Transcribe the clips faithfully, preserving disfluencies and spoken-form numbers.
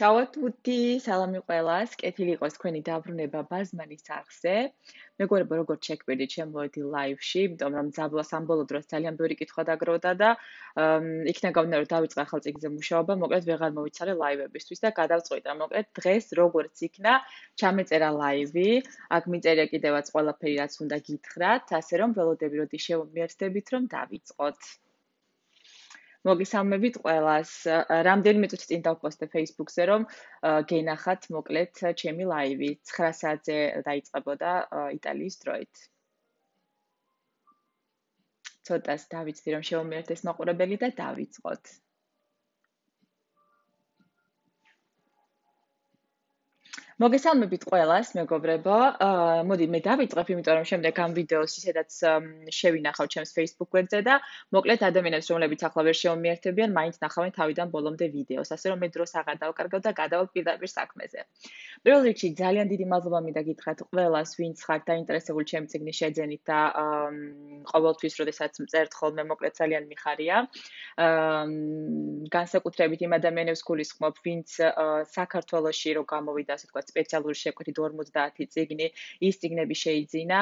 Ciao a tutti, სალამი ყველას, კეთილი იყოს თქვენი დაბრუნება ბაზმანის არხზე. მეგობრებო, როგორც შეგვიძლია, შემოვედი live-ში, იმიტომ რომ ძაბლას ამ ბოლო დროს ძალიან ბევრი კითხვა დაგროვდა და იქნა გამნა რომ დავიწყე ახალ წიგნზე მუშაობა, მოკლედ ვეღარ მოვიცარე live-ებისთვის და გადავწყვიტა, მოკლედ დღეს როგორც იქნა, ჩამეწერა live-ი, აქ მიწერია კიდევაც ყველაფერი რაც უნდა გითხრათ, ასე რომ ველოდები როდი შევმიერთდებით რომ დავიწყოთ. მოგესალმებით ყველას. რამდენიმე წუთი წინ დავპოსტე Facebook-ზე, რომ გენახათ მოკლედ ჩემი live-ი ცხრა საათზე დაიწყებოდა იტალიის დროით. ცოტას დავიცდი, რომ შევმიერთდეს მაყურებელი და დავიწყოთ. მოგესალმებით ყველას, მეგობრებო. მოდი მე დავიწყებ, იმიტომ რომ შემდეგ ამ ვიდეოს ისედაც შევინახავ ჩემს Facebook გვერდზე და მოკლედ ადამიანებს, რომლებიც ახლა ვერ შევმიერთებიან, მაინც ნახავენ თავიდან ბოლომდე ვიდეოს, ასე რომ მე დროს აღარ დავკარგავ და გადავალ პირდაპირ საქმეზე. პირველ რიგში ძალიან დიდი მადლობა მინდა გითხრათ ყველას, ვინც ხართ დაინტერესებული ჩემი წიგნის შეძენით და ყოველთვის, როდესაც მწერთ ხოლმე, მოკლედ ძალიან მიხარია. განსაკუთრებით იმ ადამიანებს გულისხმობ, ვინც საქართველოში რო გამოვიდა, ასე ვთქვათ, სპეციალური შეკვეთით ორმოცდაათი წიგნი, ის წიგნები შეიძინა.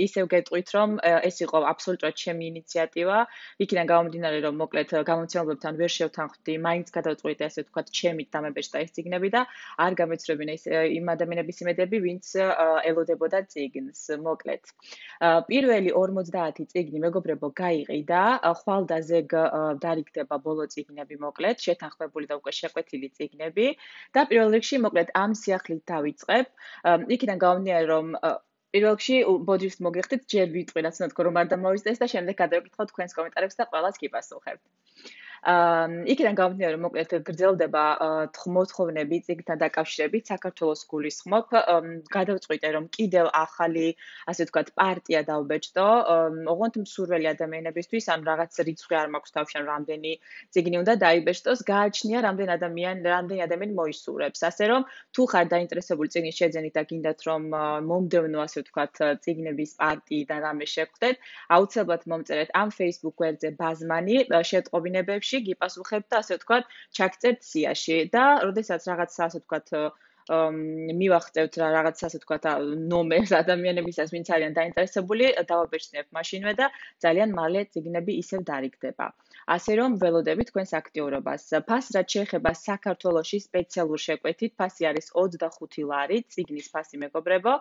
ისევ გეტყვით, რომ ეს იყო აბსოლუტურად ჩემი ინიციატივა. იქიდან გამომდინარე, რომ მოკლედ გამომცემლებთან ვერ შევთანხმდი, მაინც გადავწყვიტე, ასე ვთქვათ, ჩემით დამებეჭდა ეს წიგნები და არ გამეცრებინა ის იმ ადამიანების იმედები, ვინც ელოდებოდა წიგნს, მოკლედ. პირველი ორმოცდაათი წიგნი, მეგობრებო, გაიყიდა, ხვალდაზე დარიგდება ბოლო წიგნები, მოკლედ, შეთანხმებული და უკვე შეკვეთილი წიგნები და პირველ რიგში, მოკლედ, ამ სიახლით დავიწყებ. იქიდან გამომდინარე, რომ პირველ რიგში ბოდიშს მოგიხდით, ჯერ ვიტყვი, რაც უნდა თქო, რომ არ დამოვიზდეს და შემდეგ გადავიკითხავ თქვენს კომენტარებს და ყველას გიპასუხებთ. იქიდან გამომდინარე, რომ მოკლედ გრძელდება მოთხოვნები წიგნთან დაკავშირებით, საქართველოს გულისხმობ, გადავწყვიტე, რომ კიდევ ახალი, ასე ვთქვათ, პარტია დავბეჭდო, ოღონდ მსურველი ადამიანებისთვის, ან რაღაც რიცხვი არ მაქვს თავში, ან რამდენი წიგნი უნდა დაიბეჭდოს, გააჩნია რამდენი ადამიანი, რამდენი ადამიანი მოისურვებს. ასე რომ, თუ ხარ დაინტერესებული წიგნის შეძენით და გინდათ, რომ მომდევნო, ასე ვთქვათ, წიგნების პარტიიდან რამე შეგხვდეთ, აუცილებლად მომწერეთ ამ Facebook გვერდზე ბაზმანი შეტყობინებებში გიპასუხებთ და ასე ვთქვათ, ჩაგწერთ სიაში და როდესაც რაღაცა ასე ვთქვათ მივახცევთ რა რაღაცა ასე ვთქვათ ნომერს ადამიანებისაც, ვინც არიან დაინტერესებული, დავაბეჭდნებ მაშინვე და ძალიან მალე წიგნები ისევ დარიგდება. ასე რომ ველოდებით თქვენს აქტიურობას. ფასს რაც შეეხება საქართველოში სპეციალურ შეკვეთით, ფასი არის ოცდახუთი ლარი, წიგნის ფასი, მეგობრებო,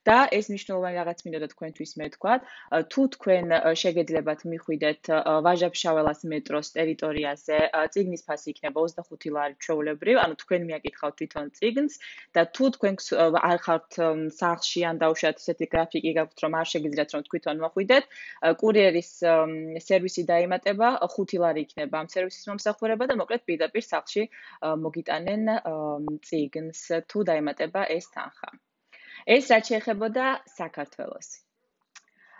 და ეს მნიშვნელოვანი რაღაც მინდოდა თქვენთვის მე ვთქვათ, თუ თქვენ შეგეძლებათ მიხვიდეთ ვაჟა-ფშაველას მეტროს ტერიტორიაზე, წიგნის ფასი იქნება ოცდახუთი ლარი ჩვეულებრივ, ანუ თქვენ მიაკითხავთ თვითონ წიგნს და თუ თქვენ არ ხართ სახლში ან დაუშვათ ისეთი გრაფიკი გაქვთ, რომ არ შეგიძლიათ რომ თვითონ მოხვიდეთ, კურიერის სერვისი დაემატება, ხუთი ლარი იქნება ამ სერვისის მომსახურება და მოკლედ პირდაპირ სახლში მოგიტანენ წიგნს, თუ დაემატება ეს თანხა. ეს რაც შეეხებოდა საქართველოს.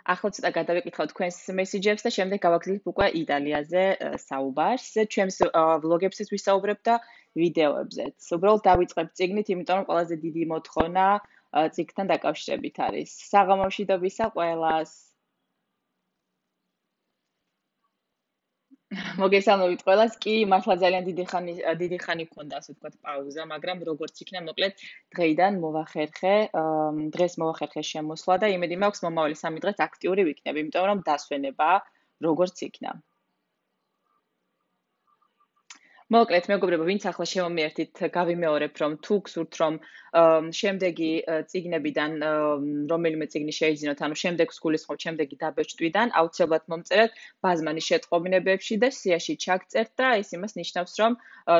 ახლა ცოტა გადავიკითხავ თქვენს მესიჯებს და შემდეგ გავაგრძელებ უკვე იტალიაზე საუბარს. ჩემს ვლოგებსაც ვისაუბრებ და ვიდეოებზეც. უბრალოდ დავიწყებ წიგნით, იმიტომ რომ ყველაზე დიდი მოთხოვნა წიგნთან დაკავშირებით არის. საღამოში დობისა ყველას. მოგესალმებით ყველას. კი, მართლა ძალიან დიდი ხანი დიდი ხანი მქონდა, ასე ვთქვათ, პაუზა, მაგრამ როგორც იქნა, მოკლედ დღეიდან მოვახერხე, დღეს მოვახერხე შემოსვლა და იმედი მაქვს მომავალი სამი დღეც აქტიური ვიქნები, იმიტომ რომ დასვენება როგორც იქნა. მოკლედ, მეგობრებო, ვინც ახლა შევამიერთით, გავიმეორებ, რომ თუ გსურთ, რომ შემდეგი წიგნებიდან რომელიმე წიგნი შეიძინოთ, ანუ შემდეგ გულისხმობ შემდეგი დაბეჭდვიდან, აუცილებლად მომწერეთ ბაზმანის შეტყობინებებში და სიაში ჩაგწერთ და ეს იმას ნიშნავს, რომ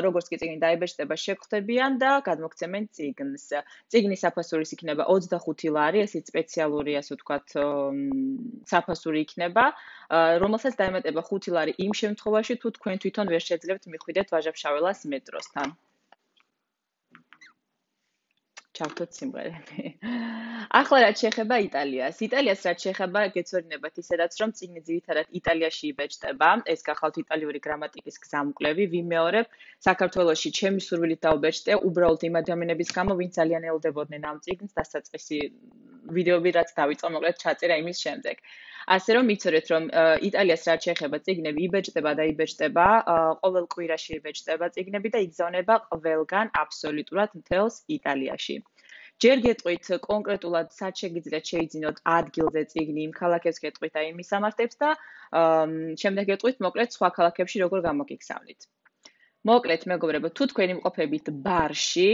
როგორც კი წიგნი დაიბეჭდება, შეგხვდებიან და გადმოგცემენ წიგნს. წიგნის საფასურის იქნება ოცდახუთი ლარი, ესეც სპეციალური, ასე ვთქვათ, საფასური იქნება, რომელსაც დაემატება ხუთი ლარი იმ შემთხვევაში, თუ თქვენ თვითონ ვერ შეძლებთ მიხვიდეთ ვაჟა-ფშაველას მეტროსთან. ჩავთოთ სიმღერები. ახლა რაც შეეხება იტალიას. იტალიას რაც შეეხება, გეცოდინებათ ისედაც, რომ წიგნი ძირითადად იტალიაში იბეჭდება. ეს გახავთ იტალიური გრამატიკის გზამკვლევი. ვიმეორებ, საქართველოში ჩემი სურვილით დავბეჭდე, უბრალოდ იმ ადამიანების გამო, ვინც ძალიან ელოდებოდნენ ამ წიგნს, დასაწყისი ვიდეოები რაც დავიწყო მოკლედ ჩაწერა იმის შემდეგ. ასე რომ იცოდეთ რომ იტალიას რაც შეეხება წიგნები იბეჭდება და იბეჭდება, ყოველ კვირაში იბეჭდება წიგნები და იგზავნება ყველგან აბსოლუტურად მთელს იტალიაში. ჯერ გეტყვით კონკრეტულად სად შეგიძლიათ შეიძინოთ ადგილზე წიგნი, იმ ქალაქებს გეტყვით და იმის ამართებს და შემდეგ გეტყვით მოკლედ სხვა ქალაქებში როგორ გამოგიგზავნით. მოკლედ მეგობრებო, თუ თქვენ იმყოფებით ბარში,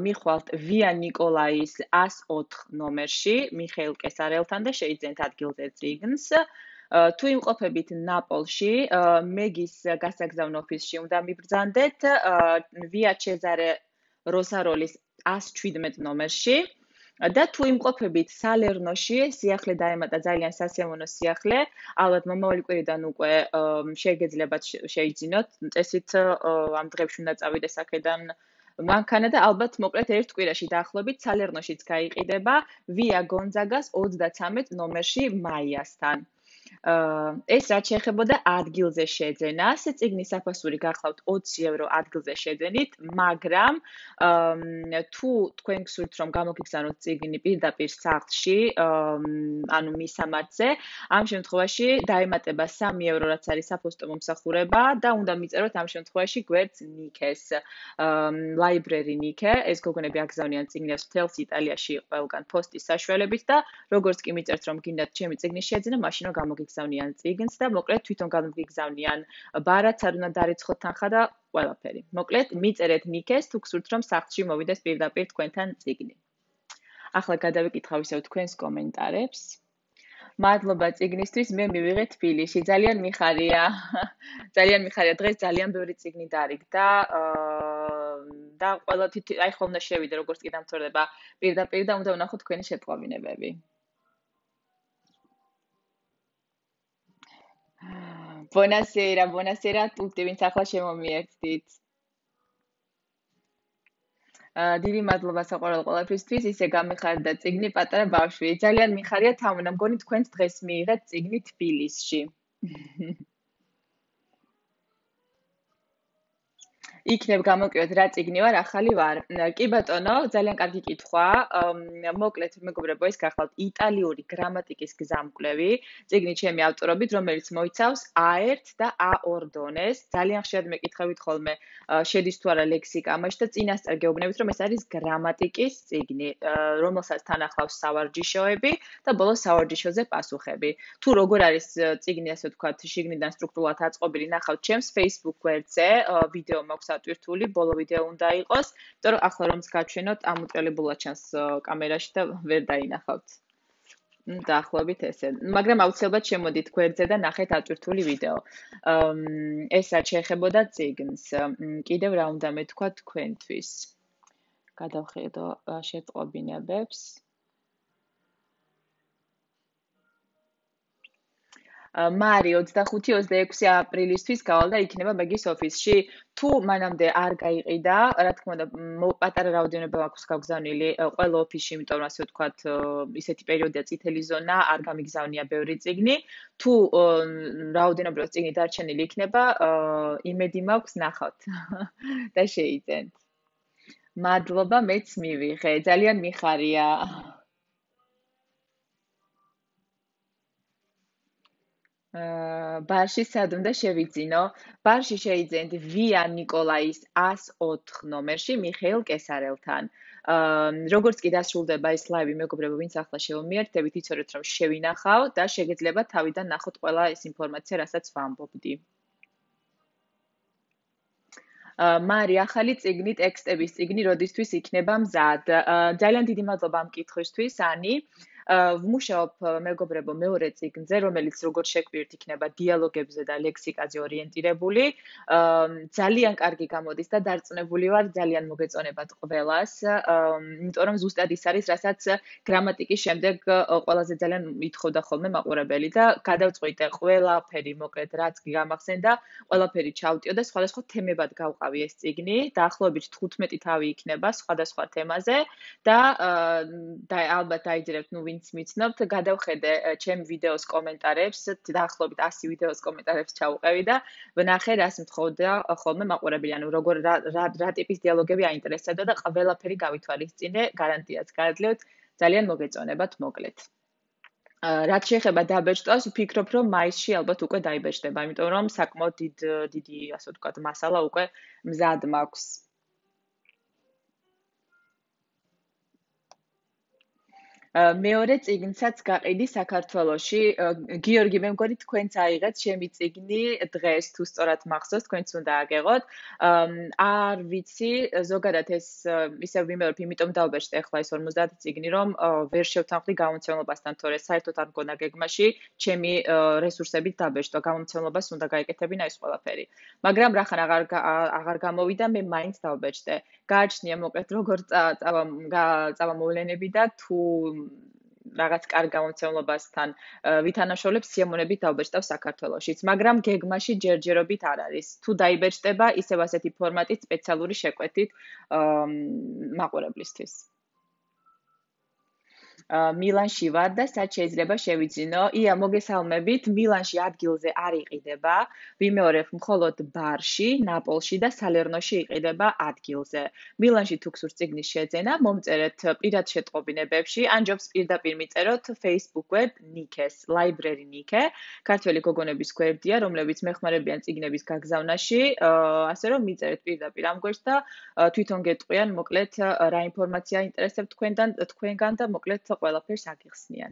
მიხვალთ ვია ნიკოლაის ას ოთხ ნომერში, მიხეილ კესარელთან და შეიძენთ ადგილზე წიგნს. თუ იმყოფებით ნაპოლში, მეგის გასაგზავნო ოფისში უნდა მიბრძანდეთ ვია ჩეზარე როსაროლის ას შვიდმეტ ნომერში. და თუ იმყოფებით სალერნოში, სიახლე დაემატა ძალიან სასიამოვნო სიახლე, ალბათ მომავალი კვირიდან უკვე შეგეძლებათ შეიძინოთ, წესით ამ დღეებში უნდა წავიდეს აქედან მანქანა და ალბათ მოკლედ ერთ კვირაში დაახლოებით სალერნოშიც გაიყიდება ვია გონძაგას ოცდათრამეტ ნომერში მაიასთან. ეს რაც შეეხებოდა ადგილზე შეძენას, წიგნის საფასური გახლავთ ოცი ევრო ადგილზე შეძენით, მაგრამ თუ თქვენ გსურთ რომ გამოგიგზავნოთ წიგნი პირდაპირ სახლში, ანუ მისამართზე, ამ შემთხვევაში დაემატება სამი ევრო რაც არის საფოსტო მომსახურება და უნდა მიწეროთ ამ შემთხვევაში გვერდს ნიქეს. ლაიბრერი ნიკე, ეს გოგონები აგზავნიან წიგნებს მთელს იტალიაში ყველგან პოსტის საშუალებით და როგორც კი მიწერთ რომ გინდათ ჩემი წიგნის შეძენა, მაშინ რომ გამოგიგზავნიან წიგნს და მოკლედ თვითონ გამოგიგზავნიან ბარათს არ უნდა დარიცხოთ თანხა და ყველაფერი. მოკლედ მიწერეთ ნიკეს თუ გსურთ რომ სახლში მოვიდეს პირდაპირ თქვენთან წიგნი. ახლა გადავიკითხავ ისევ თქვენს კომენტარებს. მადლობა წიგნისთვის, მე მივიღე თბილისში, ძალიან მიხარია. ძალიან მიხარია, დღეს ძალიან ბევრი წიგნი დარიგდა და ყველა თითი აი ხომ უნდა შევიდე როგორც კი დამთავრდება პირდაპირ და უნდა ვნახო თქვენი შეტყობინებები. Buonasera, buonasera a tutti, ვინც ახლა შემომიერთდით. დიდი მადლობა საყვარელ ყველაფრისთვის, ისე გამიხარდა წიგნი პატარა ბავშვი. ძალიან მიხარია თამუნა, მგონი თქვენც დღეს მიიღეთ წიგნი თბილისში. იქნებ გამოკივეთ რა წიგნი ვარ, ახალი ვარ. კი ბატონო, ძალიან კარგი კითხვა. მოკლედ მეგობრებო, ეს გახლავთ იტალიური გრამატიკის გზამკვლევი, წიგნი ჩემი ავტორობით, რომელიც მოიცავს ა ერთ და ა ორ დონეს. ძალიან ხშირად მეკითხებით ხოლმე, შედის თუ არა ლექსიკა ამაში და წინასწარ გეუბნებით, რომ ეს არის გრამატიკის წიგნი, რომელსაც თან ახლავს სავარჯიშოები და ბოლოს სავარჯიშოზე პასუხები. თუ როგორ არის წიგნი, ასე ვთქვათ, შიგნიდან სტრუქტურულად აწყობილი, ნახავთ ჩემს Facebook გვერდზე, ვიდეო მაქვს ატვირთული, ბოლო ვიდეო უნდა იყოს, იმიტომ რომ ახლა რომც გაჩვენოთ, ამოტრელებულად ჩანს კამერაში და ვერ დაინახავთ. დაახლოებით ესე. მაგრამ აუცილებლად შემოდით გვერდზე და ნახეთ ატვირთული ვიდეო. ეს რაც შეეხებოდა წიგნს. კიდევ რა უნდა მეთქვა თქვენთვის. გადავხედო შეტყობინებებს. მარი ოცდახუთი ოცდაექვსი აპრილისთვის გავალ და იქნება მეგის ოფისში. თუ მანამდე არ გაიყიდა, რა თქმა უნდა, პატარა რაოდენობა აქვს გაგზავნილი ყველა ოფისში, იმიტომ რომ ასე ვთქვათ, ისეთი პერიოდია წითელი ზონა, არ გამიგზავნია ბევრი წიგნი. თუ რაოდენობრივად წიგნი დარჩენილი იქნება, იმედი მაქვს ნახავთ და შეიძენთ. მადლობა, მეც მივიღე. ძალიან მიხარია. ბარში სად უნდა შევიძინო? ბარში შეიძენთ ვია ნიკოლაის ას ოთხ ნომერში მიხეილ კესარელთან. როგორც კი დასრულდება ეს ლაივი, მეგობრებო, ვინც ახლა შევმიერთდებით, იცოდეთ რომ შევინახავ და შეგეძლება თავიდან ნახოთ ყველა ეს ინფორმაცია, რასაც ვამბობდი. მარი, ახალი წიგნი, ტექსტების წიგნი, როდისთვის იქნება მზად? ძალიან დიდი მადლობა ამ კითხვისთვის, ანი. ვმუშაობ მეგობრებო მეორე წიგნზე, რომელიც როგორც შეგვიერთთ იქნება დიალოგებზე და ლექსიკაზე ორიენტირებული. ძალიან კარგი გამოდის და დარწმუნებული ვარ, ძალიან მოგეწონებათ ყველას, იმიტომ რომ ზუსტად ის არის, რასაც გრამატიკის შემდეგ ყველაზე ძალიან ითხოვდა ხოლმე მაყურებელი და გადავწყვიტე ყველაფერი მოკლედ რაც გამახსენდა, ყველაფერი ჩავტიო და სხვადასხვა თემებად გავყავი ეს წიგნი. დაახლოებით თხუთმეტი თავი იქნება სხვადასხვა თემაზე და ალბათ დაიძირებთ, ნუ ვინც მიცნობთ, გადავხედე ჩემ ვიდეოს კომენტარებს, დაახლოებით ასი ვიდეოს კომენტარებს ჩავუყევი და ვნახე, რას მთხოვდა ხოლმე მაყურებელი, ანუ როგორ რა რა ტიპის დიალოგები აინტერესებდა და ყველაფერი გავითვალისწინე, გარანტიაც გაძლევთ. ძალიან მოგეწონებათ მოკლედ. რაც შეეხება დაბეჭდვას, ვფიქრობ, რომ მაისში ალბათ უკვე დაიბეჭდება, იმიტომ რომ საკმაოდ დიდ დიდი, ასე ვთქვათ, მასალა უკვე მზად მაქვს. მეორე წიგნსაც გაყიდი საქართველოში. გიორგი, მე მგონი თქვენც აიღეთ ჩემი წიგნი დღეს, თუ სწორად მახსოვს, თქვენც უნდა აგეღოთ. არ ვიცი, ზოგადად ეს ისევ ვიმეორებ, იმიტომ დავბეჭდე ახლა ეს ორმოცდაათი წიგნი, რომ ვერ შევთანხმდი გამომცემლობასთან, თორე საერთოდ არ მგონა გეგმაში ჩემი რესურსებით დაბეჭდვა, გამომცემლობას უნდა გაეკეთებინა ეს ყველაფერი. მაგრამ რახან აღარ აღარ გამოვიდა, მე მაინც დავბეჭდე. გააჩნია მოკლედ როგორ წავა მოვლენები და თუ რაღაც კარგ გამომცემლობასთან ვითანაშაულებს სიამოვნებით დავბეჭდავ საქართველოშიც, მაგრამ გეგმაში ჯერჯერობით არ არის. თუ დაიბეჭდება, ისევ ასეთი ფორმატით სპეციალური შეკვეთით მაყურებლისთვის. მილანში ვარ და სად შეიძლება შევიძინო? ია, მოგესალმებით. მილანში ადგილზე არ იყიდება. ვიმეორებ, მხოლოდ ბარში, ნაპოლში და სალერნოში იყიდება ადგილზე. მილანში თუ გსურთ წიგნის შეძენა, მომწერეთ პირად შეტყობინებებში, ან ჯობს პირდაპირ მიწეროთ Facebook web Nike-ს, Library Nike, ქართველი გოგონების გვერდია, რომლებიც მეხმარებიან წიგნების გაგზავნაში, ასე რომ მიწერეთ პირდაპირ ამ გვერდს და თვითონ გეტყვიან, მოკლედ რა ინფორმაცია ინტერესებთ თქვენთან, თქვენგან და მოკლედ ყველაფერს აგიხსნიან.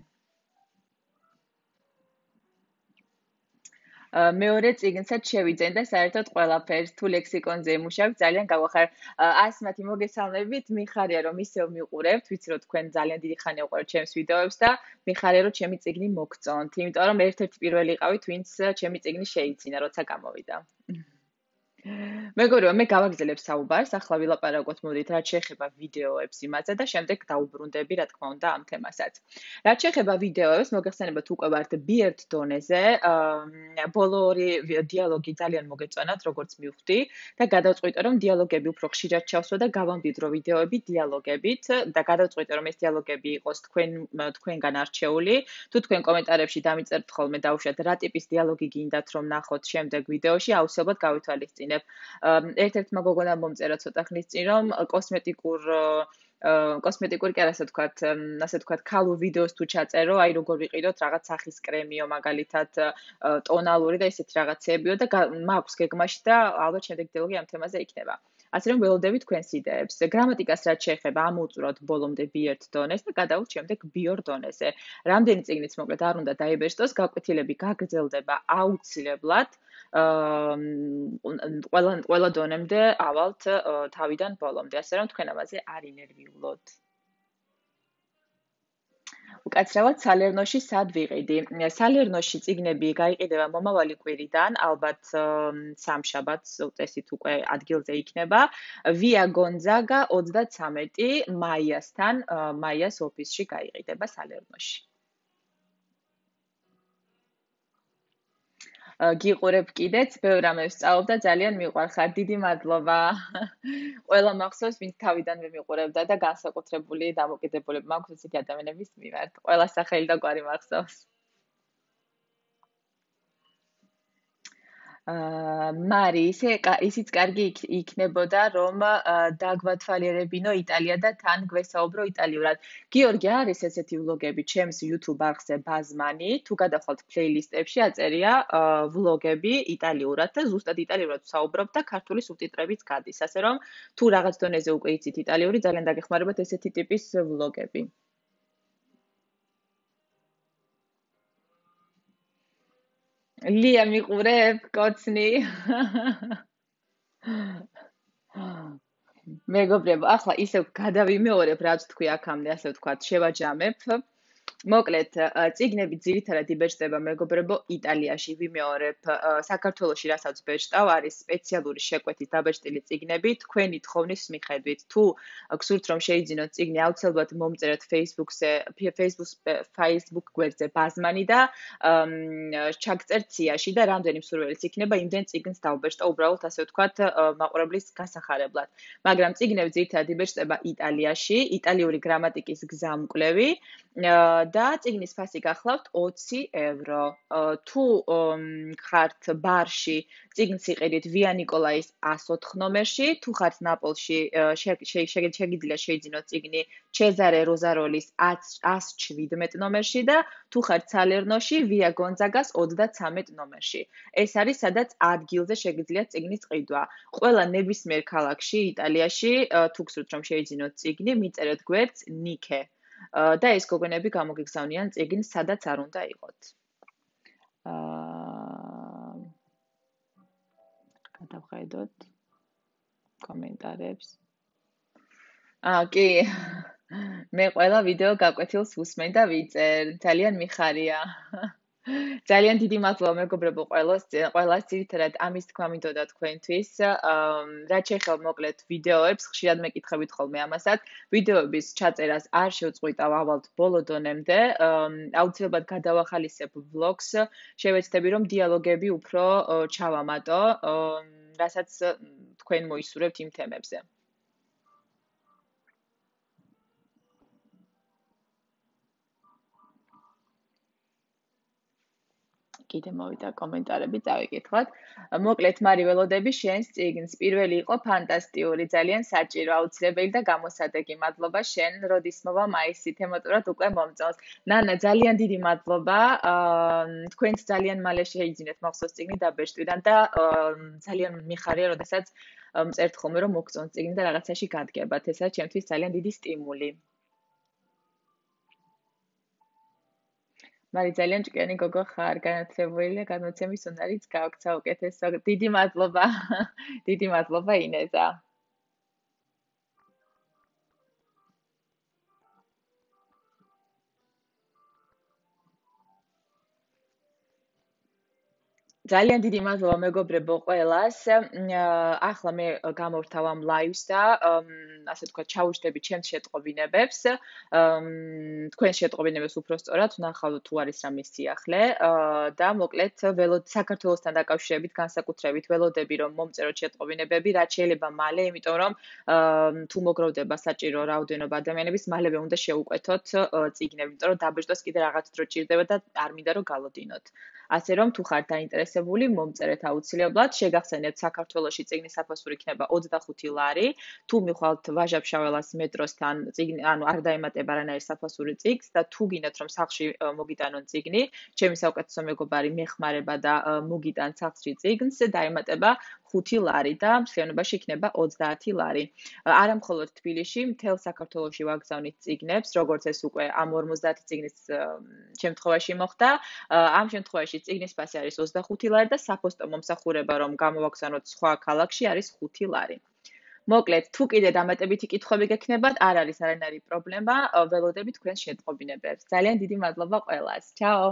მეორე წიგნსაც შევიძენ და საერთოდ ყველაფერს თუ ლექსიკონზე იმუშავებ, ძალიან გავახარ. ასმათი მოგესალმებით, მიხარია რომ ისევ მიყურებთ, ვიცი რომ თქვენ ძალიან დიდი ხანია უყურებთ ჩემს ვიდეოებს და მიხარია რომ ჩემი წიგნი მოგწონთ, იმიტომ რომ ერთ-ერთი პირველი იყავით, ვინც ჩემი წიგნი შეიძინა, როცა გამოვიდა. მეგობრებო, მე გავაგზავნებ საუბარს, ახლა ვილაპარაკოთ მოდით, რაც შეეხება ვიდეოებს იმაზე და შემდეგ დაუბრუნდები, რა თქმა უნდა, ამ თემასაც. რაც შეეხება ვიდეოებს, მოგეხსენებათ უკვე ვართ ბიერთ დონეზე, ბოლო ორი დიალოგი ძალიან მოგეწონათ, როგორც მივხვდი და გადავწყვიტე, რომ დიალოგები უფრო ხშირად ჩავსვა და გავამბიდრო ვიდეოები დიალოგებით და გადავწყვიტე, რომ ეს დიალოგები იყოს თქვენ თქვენგან არჩეული. თუ თქვენ კომენტარებში დამიწერთ ხოლმე დაუშვათ, რა ტიპის დიალოგი გინდათ რომ ნახოთ შემდეგ ვიდეოში, აუცილებლად გავითვალისწინებ. ერთ-ერთმა გოგონამ მომწერა ცოტა ხნის წინ, რომ კოსმეტიკურ კოსმეტიკური კი არა, ასე ვთქვათ, ასე ვთქვათ, ქალურ ვიდეოს თუ ჩაწერო, აი როგორ ვიყიდოთ რაღაც სახის კრემიო, მაგალითად, ტონალური და ესეთი რაღაცეებიო და მაქვს გეგმაში და ალბათ შემდეგ დიალოგი ამ თემაზე იქნება. ასე რომ ველოდებით თქვენს იდეებს. გრამატიკას რაც შეეხება, ამოვწურავთ ბოლომდე ბიერთ დონეს და გადავთ შემდეგ ბიორ დონეზე. რამდენი წიგნიც მოკლედ არ უნდა დაიბეჭდოს, გაკვეთილები გაგრძელდება აუცილებლად. ყველა ყველა დონემდე ავალთ თავიდან ბოლომდე, ასე რომ თქვენ ამაზე არ ინერვიულოთ. უკაცრავად სალერნოში სად ვიყიდი? სალერნოში წიგნები გაიყიდება მომავალი კვირიდან, ალბათ სამშაბათს უწესით უკვე ადგილზე იქნება. ვია გონძაგა ოცდათსამეტი მაიასთან, მაიას ოფისში გაიყიდება სალერნოში. გიყურებ კიდეც, ბევრ რამეს ვსწავლობ და ძალიან მიყვარხარ. დიდი მადლობა. ყველა მახსოვს, ვინც თავიდანვე მიყურებდა და განსაკუთრებული დამოკიდებულება მაქვს ესეთი ადამიანების მიმართ. ყველა სახელი და გვარი მახსოვს. მარი, ისე ისიც კარგი იქნებოდა, რომ დაგვათვალიერებინო იტალია და თან გვესაუბრო იტალიურად. გიორგი, არის ესეთი ვლოგები ჩემს YouTube არხზე ბაზმანი, თუ გადახვალთ პლეილისტებში, აწერია ვლოგები იტალიურად და ზუსტად იტალიურად ვსაუბრობ და ქართული სუბტიტრებიც გადის. ასე რომ, თუ რაღაც დონეზე უკვე იცით იტალიური, ძალიან დაგეხმარებათ ესეთი ტიპის ვლოგები. ლია მიყურებ, კოცნი. მეგობრებო, ახლა ისევ გადავიმეორებ, რაც თქვი აქამდე, ასე ვთქვათ, შევაჯამებ. მოკლედ, წიგნები ძირითადად იბეჭდება მეგობრებო იტალიაში, ვიმეორებ, საქართველოში რასაც ბეჭდავ, არის სპეციალური შეკვეთით დაბეჭდილი წიგნები, თქვენი თხოვნის მიხედვით. თუ გსურთ რომ შეიძინოთ წიგნი, აუცილებლად მომწერეთ Facebook-ზე, Facebook Facebook გვერდზე ბაზმანი და ჩაგწერთ სიაში და რამდენი მსურველიც იქნება, იმდენ წიგნს დავბეჭდა, უბრალოდ ასე ვთქვათ, მაყურებლის გასახარებლად. მაგრამ წიგნები ძირითადად იბეჭდება იტალიაში, იტალიური გრამატიკის გზამკვლევი და წიგნის ფასი გახლავთ ოცი ევრო. თუ ხართ ბარში, წიგნს იყიდით ვია ნიკოლაის εκατს ოთხ ნომერში, თუ ხართ ნაპოლში, შეგიძლიათ შეიძინოთ წიგნი ჩეზარე როზაროლის εκατს შვიდმეტ ნომერში და თუ ხართ სალერნოში, ვია გონძაგას ოცდათსამეტ ნომერში. ეს არის სადაც ადგილზე შეგიძლიათ წიგნის ყიდვა. ყველა ნებისმიერ ქალაქში იტალიაში თუ გსურთ რომ შეიძინოთ წიგნი, მიწერეთ გვერდს ნიკე. და ეს გოგონები გამოგიგზავნიან წიგნს სადაც არ უნდა იყოთ. აა გადავხედოთ კომენტარებს. აა კი. მე ყველა ვიდეო გაკვეთილს ვუსმენ და ვიწერ. ძალიან მიხარია. ძალიან დიდი მადლობა მეგობრებო ყველას, ყველას ძირითადად ამის თქმა მინდოდა თქვენთვის. რაც შეეხება მოკლედ ვიდეოებს, ხშირად მეკითხებით ხოლმე ამასაც. ვიდეოების ჩაწერას არ შევწყვიტავ ავალთ ბოლო დონემდე. აუცილებლად გადავახალისებ ვლოგს. შევეცდები რომ დიალოგები უფრო ჩავამატო, რასაც თქვენ მოისურვებთ იმ თემებზე. კიდე მოვიდა კომენტარები, დავიკითხოთ. მოკლედ მარი ველოდები შენს წიგნს. პირველი იყო ფანტასტიკური, ძალიან საჭირო, აუცილებელი და გამოსადეგი. მადლობა შენ, როდის მოვა მაისი, თემატურად უკვე მომწონს. ნანა, ძალიან დიდი მადლობა. თქვენც ძალიან მალე შეიძინეთ მახსოვს წიგნი დაბეჭდვიდან და ძალიან მიხარია, როდესაც მწერთ ხოლმე რომ მოგწონს წიგნი და რაღაცაში გადგებათ. ესა ჩემთვის ძალიან დიდი სტიმული. მარი ძალიან ჭკვიანი გოგო ხარ, განათლებული და გადმოცემის უნარიც გააქვს საუკეთესო. დიდი მადლობა. დიდი მადლობა ინეზა. ძალიან დიდი მადლობა მეგობრებო ყველას. ახლა მე გამორთავ ამ ლაივს და ასე ვთქვათ, ჩავუშვდები ჩემს შეტყობინებებს. თქვენ შეტყობინებებს უფრო სწორად ვნახავთ თუ არის რამე სიახლე და მოკლედ საქართველოსთან დაკავშირებით განსაკუთრებით ველოდები რომ მომწეროთ შეტყობინებები, რაც შეიძლება მალე, იმიტომ რომ თუ მოგროვდება საჭირო რაოდენობა ადამიანების, მალევე უნდა შეუკვეთოთ წიგნები, იმიტომ რომ დაბეჭდოს კიდე რაღაც დრო ჭირდება და არ მინდა რომ გალოდინოთ. ასე რომ თუ ხართ დაინტერესებული, მომწერეთ აუცილებლად. შეგახსენებთ, საქართველოში წიგნის საფასური იქნება ოცდახუთი ლარი. თუ მიხვალთ ვაჟა-ფშაველას მეტროსთან, წიგნი, ანუ არ დაემატება რანაირ საფასური წიგნს და თუ გინდათ რომ სახლში მოგიტანონ წიგნი, ჩემი საუკეთესო მეგობარი მეხმარება და მოგიტან სახლში წიგნს, დაემატება ხუთი ლარი და მსხლიანობაში იქნება ოცდაათი ლარი. არა მხოლოდ თბილისში, მთელ საქართველოში ვაგზავნით წიგნებს, როგორც ეს უკვე ამ ორმოცდაათი წიგნის შემთხვევაში მოხდა. ამ შემთხვევაში წიგნის ფასი არის ოცდახუთი ლარი და საფოსტო მომსახურება რომ გამოვაგზავნოთ სხვა ქალაქში არის ხუთი ლარი. მოკლედ, თუ კიდე დამატებითი კითხვები გექნებათ, არ არის არანაირი პრობლემა, ველოდები თქვენს შეტყობინებებს. ძალიან დიდი მადლობა ყველას. ჩაო!